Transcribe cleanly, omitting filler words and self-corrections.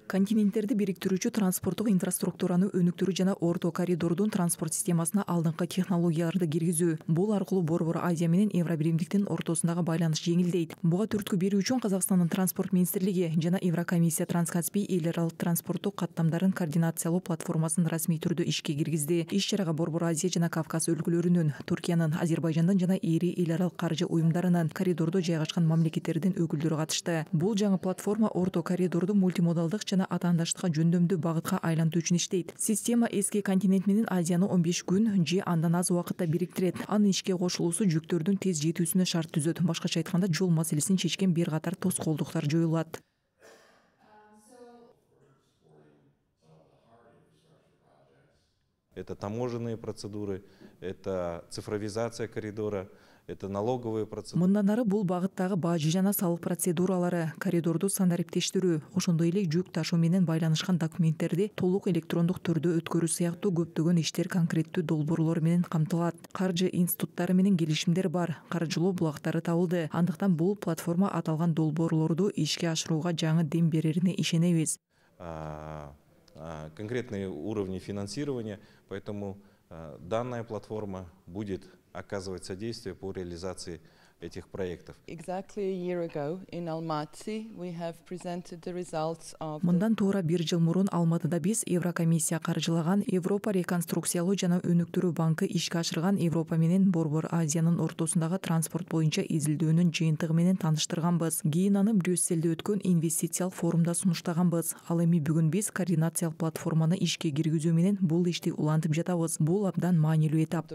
Континенттерди бириктирүүчү транспорттук инфраструктураны өнүктүрүү жана Орто коридордун транспорт системасына алдыңкы технологияларды киргизүү. Бул аркылуу Борбор Азия менен Евробиримдиктин ортосундагы байланыш жеңилдейт. Буга түрткү берүү үчүн Казакстандын транспорт министрлиги жана Еврокомиссия Транскаспий эл аралык транспорттук каттамдарын координациялоо платформасын расмий түрдө ишке киргизди. Иш-чарага Борбор Азия жана Кавказ өлкөлөрүнүн, Түркиянын, Азербайжандын жана ири эл аралык каржы уюмдарынын, коридордо жайгашкан мамлекеттердин өкүлдөрү катышты. Бул жаңы платформа Орто коридорду мультимодалдык жана атаандаштыкка жөндөмдүү багытка айлантуу үчүн иштейт. Система эски континент менен Азияны 15 күн же андан аз убакытта бириктирет. Анын ишке кошулуусу жүктөрдүн тез жетүүсүнө шарт түзөт. Башкача айтканда, жол маселесин чечкен бир катар тоскоолдуктар жоюлат. Это таможенные процедуры, это цифровизация коридора, это налоговые процедуры. Мындан ары бул багыттагы бажы жана салык процедуралары, коридорду стандариптештирүү, ошондой эле жүк ташуу менен байланышкан документтерди толук электрондук түрдө өткөрүү сыяктуу көптөгөн иштер конкреттүү долбоорлор менен камтылат. Каржы институттары менен келишимдер бар, каржылоо булактары табылды. Андыктан бул платформа аталган долбоорлорду ишке ашырууга жаңы дем берерине ишенебиз. Конкретные уровни финансирования, поэтому данная платформа будет оказывать содействие по реализации этих проектов. Мындан туура бир жыл мурун Алматыда биз Еврокомиссия каржылаган Европа реконструкциялоо жана өнүктүрүү банкы ишке ашырган Европа менен Борбор Азиянын ортосундагы транспорт боюнча изилдөөнүн жыйынтыгы менен тааныштырганбыз. Кийин аны Брюссельде өткөн инвестициялык форумда сунуштаганбыз. Ал эми бүгүн биз координациялык платформаны ишке киргизүү менен бул ишти улантып жатабыз. Бул абдан маанилүү этап.